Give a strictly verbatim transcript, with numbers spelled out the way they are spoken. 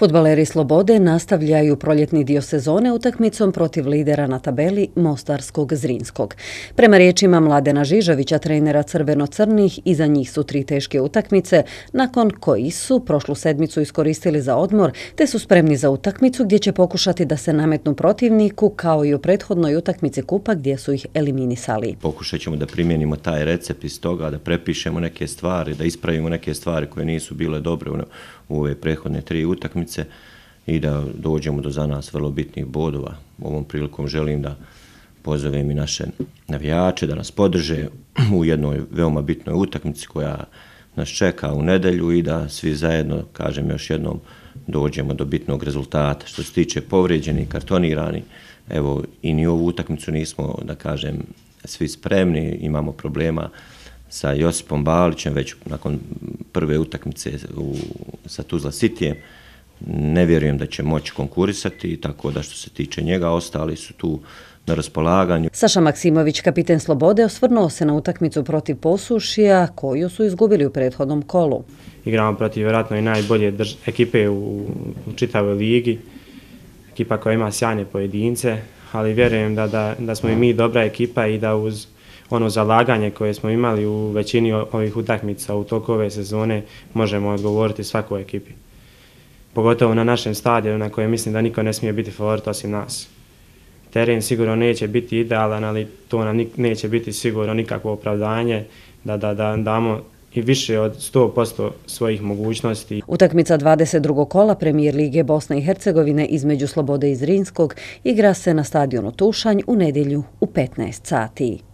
Fudbaleri Slobode nastavljaju proljetni dio sezone utakmicom protiv lidera na tabeli Mostarskog Zrinskog. Prema riječima Mladena Žižovića, trenera crveno-crnih, iza njih su tri teške utakmice, nakon koji su prošlu sedmicu iskoristili za odmor, te su spremni za utakmicu gdje će pokušati da se nametnu protivniku, kao i u prethodnoj utakmici kupa gdje su ih eliminisali. Pokušat ćemo da primijenimo taj recept iz toga, da prepišemo neke stvari, da ispravimo neke stvari koje nisu bile dobre u ove prethodne tri utakmice i da dođemo do za nas vrlo bitnih bodova. Ovom prilikom želim da pozovem i naše navijače da nas podrže u jednoj veoma bitnoj utakmici koja nas čeka u nedjelju i da svi zajedno, kažem još jednom, dođemo do bitnog rezultata. Što se tiče povrijeđeni, kartonirani, evo i ni ovu utakmicu nismo, da kažem, svi spremni, imamo problema sa Josipom Balićem već nakon prve utakmice u, sa Tuzla Cityjem. Ne vjerujem da će moći konkurisati, tako da što se tiče njega, ostali su tu na raspolaganju. Saša Maksimović, kapiten Slobode, osvrnuo se na utakmicu protiv Posušija, koju su izgubili u prethodnom kolu. Igramo protiv vjerojatno i najbolje drž- ekipe u, u čitavoj ligi, ekipa koja ima sjajne pojedince, ali vjerujem da, da, da smo i mi dobra ekipa i da uz ono zalaganje koje smo imali u većini ovih utakmica u toku ove sezone možemo odgovoriti svakoj ekipi. Pogotovo na našem stadionu na kojem mislim da niko ne smije biti favorit osim nas. Teren sigurno neće biti idealan, ali to nam neće biti sigurno nikakvo opravdanje da, da, da damo i više od sto posto svojih mogućnosti. Utakmica dvadeset drugog kola Premijer lige Bosne i Hercegovine između Slobode i Zrinskog igra se na stadionu Tušanj u nedjelju u petnaest sati.